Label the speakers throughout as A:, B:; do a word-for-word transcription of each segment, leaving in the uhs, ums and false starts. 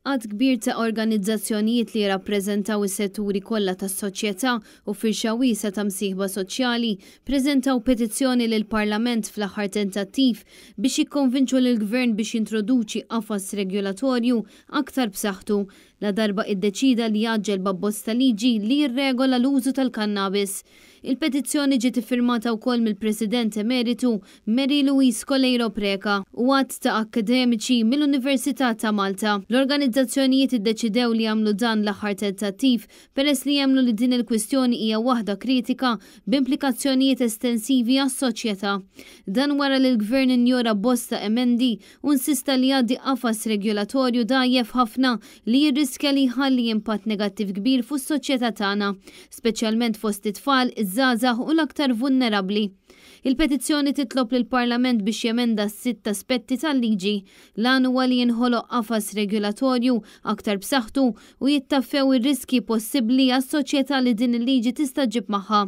A: Għadd kbir ta' organizzazzjonijiet li jirrappreżentaw is-setturi kollha tas-soċjetà u firxa wiesgħa ta' msieħba soċjali preżentaw petizzjoni lill-Parlament fl-aħħar tentattiv biex jikkonvinċu lill-Gvern biex jintroduċi qafas regolatorju aktar b'saħħtu ladarba iddeċida li jgħaġġel b'abbozz ta' liġi li jirregola l-użu tal-kannabis. Il-petizzjoni ġiet iffirmata wkoll mill-President Emeritu Mary Louise Coleiro Preca u għadd ta' akkademiċi mill-Università ta' Malta. L-organizzazzjonijiet iddeċidew li jagħmlu dan l-aħħar tentattiv peress li jemmnu li din il-kwistjoni hija waħda kritika b'implikazzjonijiet estensivi għas-soċjetà. Dan wara li l-Gvern injora bosta emendi u insista li jgħaddi qafas regolatorju dgħajjef ħafna li jirriskja li jħalli impatt negattiv kbir fuq is-soċjetà tagħna, speċjalment fost it-tfal, iż-żgħażagħ u l-aktar vulnerabbli. Il-petizzjoni titlob lill-Parlament biex jemenda sitt aspetti tal-liġi. L-għan huwa li jinħoloq qafas regolatorju aktar b'saħħtu u jittaffew ir-riski possibbli għas-soċjetà li din il-liġi tista' ġġib magħha.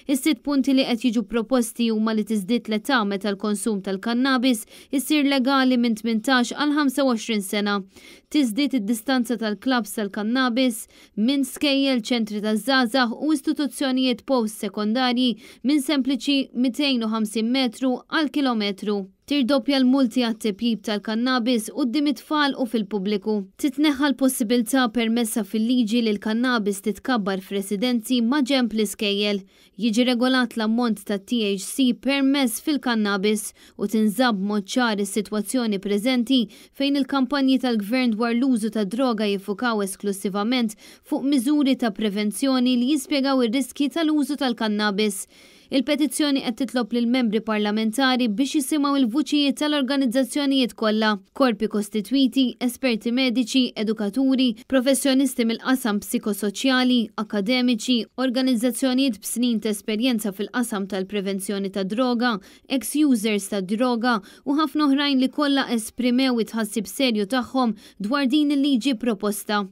A: Is-sitt punti li qed jiġu proposti huma li tiżdied l-età meta l-konsum tal-kannabis isir legali minn tmintax għal ħamsa u għoxrin sena. Tiżdied id-distanza tal-klabs tal-kannabis minn skejjel, ċentri taż-żgħażagħ u istituzzjonijiet post-sekondarji minn sempliċi mitejn u ħamsin metru għal kilometru. Tirdoppja l-multi għat-tipjib tal-kannabis quddiem it-tfal u fil-pubbliku. Titneħħa l-possibilità permessa fil-liġi li l-kannabis titkabbar f'residenzi ma' ġenb l-iskejjel. Jiġi regolat l-ammont ta' T H C permess fil-kannabis u tinżamm b'mod ċar is-sitwazzjoni preżenti fejn il-kampanji tal-gvern dwar l-użu ta' droga jiffukaw esklusivament fuq miżuri ta' prevenzjoni li jispjegaw ir-riski tal-użu tal-kannabis. Il-petizzjoni qed titlob lill-membri parlamentari biex jisimgħu il-vuċijiet tal-organizzazzjonijiet kollha, korpi kostitwiti, esperti mediċi, edukaturi, professjonisti mill-qasam psikosoċjali, akademiċi, organizzazzjonijiet b'snin ta' esperjenza fil-qasam tal-prevenzjoni ta' droga, ex-users ta' droga u ħafna oħrajn li kollha esprimew it-tħassib serju tagħhom dwar din il-liġi proposta.